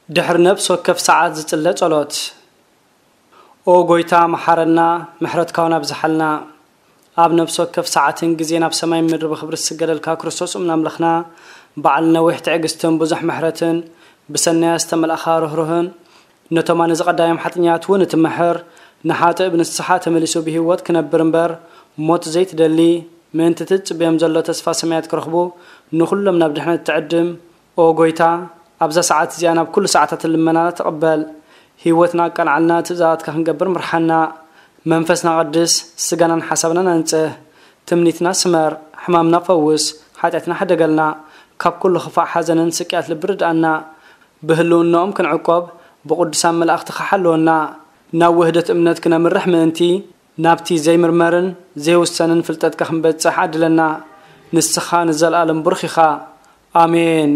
ድሕሪ ነፍሲ ወከፍ ሰዓት ዝጽለ ጸሎት። ኦ ጎይታ፣ መሓረና፣ ምሕረትካ እውን ኣብዝሓልና። ኣብ ነፍሲ ወከፍ ሰዓትን ግዜን ኣብ ሰማይ ምድሪ ብኽብሪ ዝስገደልካ ክርስቶስ እምነ ኣምላኽና፣ በዓል ነዊሕ ትዕግስትን ብዙሕ ምሕረትን፣ ብሰናያ ዝተመልኣኻ ርህሩህን፣ ነቶም ኣነ ዝቐዳዮም ሓጥኛት እውን እትምሕር፣ ንሓጥእ ብንስሓ ተመሊሱ ብህይወት ክነብር እምበር፣ ሞት ዘይትደሊ፣ ምእንቲ ትጽብዮም ዘሎ ተስፋ ሰማያት ክረኽቡ፣ ንኹሎም ናብ ድሕነት ትዕድም። ኦ ጎይታ፣ ኣብዛ ሰዓት እዚኣ ናብ ኩሉ ሰዓታት ልመናና ተቐበል። ህይወትና ኣቃልዓልና፣ ትእዛዛትካ ክንገብር ምርሓና። መንፈስና ቀድስ፣ ስጋናን ሓሳብናን ኣንጽህ። ትምኒትና ስመር፣ ሕማምና ፈውስ፣ ሓጢኣትና ሕደገልና። ካብ ኩሉ ክፋእ ሓዘንን ስቅያት ልቢ ርድኣና። ብህልውናኦም ክንዕቆብ፣ ብቅዱሳን መላእኽትኻ ሓልወና። ናብ ውህደት እምነት ክነምርሕ ምእንቲ፣ ናብቲ ዘይምርመርን ዘይውሰንን ፍልጠትካ ክንበጽሕ ዓድለና። ንስኻ ንዘለኣለም ብሩኽ ኢኻ። ኣሜን።